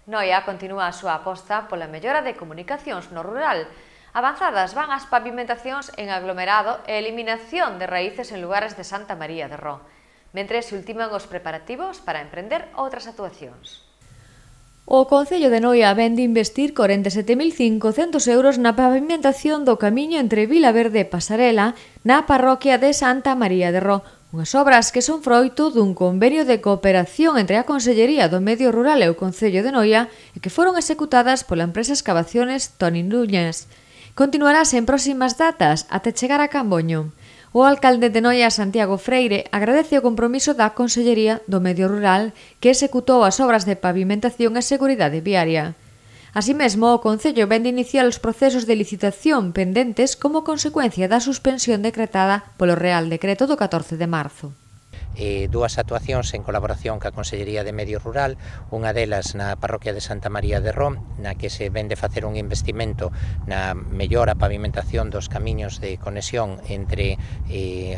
Noia continúa a súa aposta pola mellora de comunicacións no rural. Avanzadas van as pavimentacións en aglomerado e eliminación de raíces en lugares de Santa María de Ró, mentres se ultiman os preparativos para emprender outras actuacións. O Concello de Noia vén de investir 47.500 euros na pavimentación do camiño entre Vilaverde e Pasarela na parroquia de Santa María de Ró, unhas obras que son froito dun convenio de cooperación entre a Consellería do Medio Rural e o Concello de Noia e que foron executadas pola empresa Excavaciones Toni Núñez. Continuarás en próximas datas até chegar a Camboño. O alcalde de Noia, Santiago Freire, agradece o compromiso da Consellería do Medio Rural que executou as obras de pavimentación e seguridade viaria. Así mesmo, o Concello vén de iniciar os procesos de licitación pendentes como consecuencia da suspensión decretada polo Real Decreto do 14 de marzo. Dúas actuacións en colaboración ca Consellería de Medio Rural, unha delas na parroquia de Santa María de Ró, na que se vende facer un investimento na mellora pavimentación dos camiños de conexión entre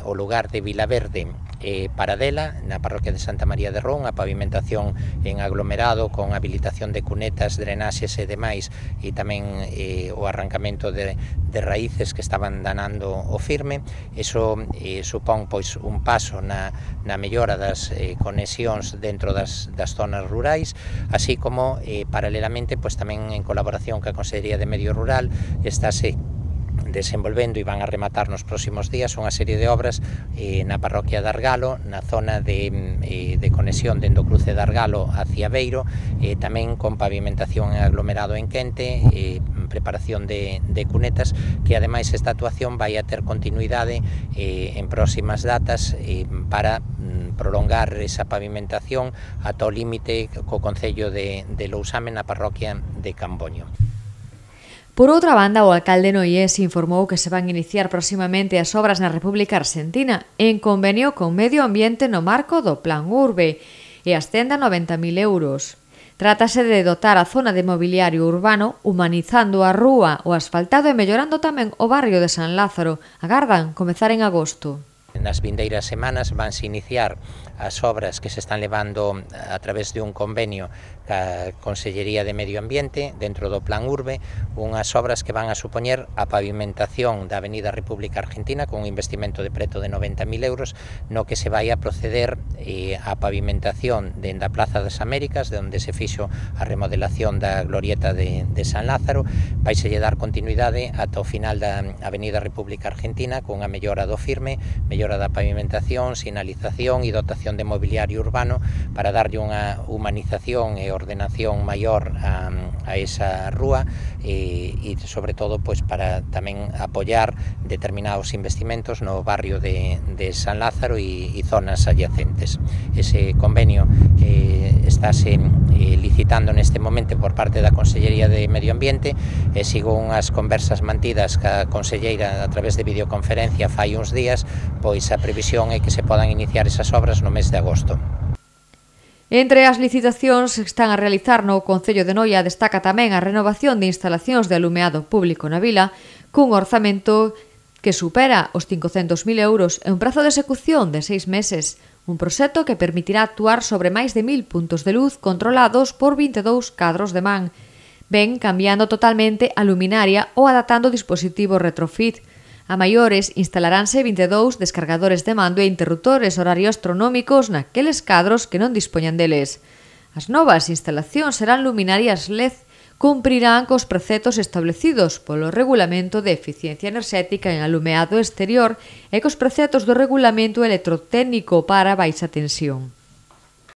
o lugar de Vilaverde e Paradela, na parroquia de Santa María de Ró, unha pavimentación en aglomerado con habilitación de cunetas, drenaxes e demais, e tamén o arrancamento de raíces que estaban danando o firme. Iso supón pois un paso na mellora das conexións dentro das zonas rurais, así como paralelamente pois tamén en colaboración ca Consellería de Medio Rural estáse desenvolvendo e van a rematar nos próximos días unha serie de obras na parroquia de Argalo, na zona de conexión dentro do cruce de Argalo hacia Beiro, tamén con pavimentación en aglomerado en Quente, preparación de cunetas, que ademais esta actuación vai a ter continuidade en próximas datas para prolongar esa pavimentación ata o límite co Concello de Lousame na parroquia de Camboño. Por outra banda, o alcalde noiense informou que se van iniciar próximamente as obras na República Argentina en convenio con Medio Ambiente no marco do Plan Urbe e ascende a 90.000 euros. Trátase de dotar a zona de mobiliario urbano, humanizando a rúa, o asfaltado e mellorando tamén o barrio de San Lázaro. Agardan comezar en agosto. Nas vindeiras semanas vanse iniciar as obras que se están levando a través de un convenio ca Consellería de Medio Ambiente dentro do Plan Urbe, unhas obras que van a supoñer a pavimentación da Avenida República Argentina con un investimento de preto de 90.000 euros, no que se vai a proceder a pavimentación dende a Plaza das Américas, de onde se fixo a remodelación da glorieta de San Lázaro. Vaiselle dar continuidade ata o final da Avenida República Argentina con a mellora do firme, mellora da pavimentación, sinalización e dotación de mobiliario urbano para darlle unha humanización e ordenación maior a esa rúa e sobre todo pois para tamén apoiar determinados investimentos no barrio de San Lázaro e zonas adyacentes. Ese convenio estáse licitando neste momento por parte da Consellería de Medio Ambiente e sigo unhas conversas mantidas ca conselleira a través de videoconferencia fai uns días, pois a previsión é que se podan iniciar esas obras no mes de agosto. Entre as licitacións que están a realizar no Concello de Noia destaca tamén a renovación de instalacións de alumeado público na vila cun orzamento que supera os 500.000 euros e un prazo de execución de 6 meses, un proxecto que permitirá actuar sobre máis de 1.000 puntos de luz controlados por 22 cadros de man. Ven cambiando totalmente a luminaria ou adaptando dispositivos retrofit. A maiores, instalaránse 22 descargadores de mando e interruptores horarios astronómicos naqueles cadros que non dispoñan deles. As novas instalacións serán luminarias LED, cumprirán cos preceptos establecidos polo Regulamento de Eficiencia Enerxética en Alumeado Exterior e cos preceptos do Regulamento Electrotécnico para baixa tensión.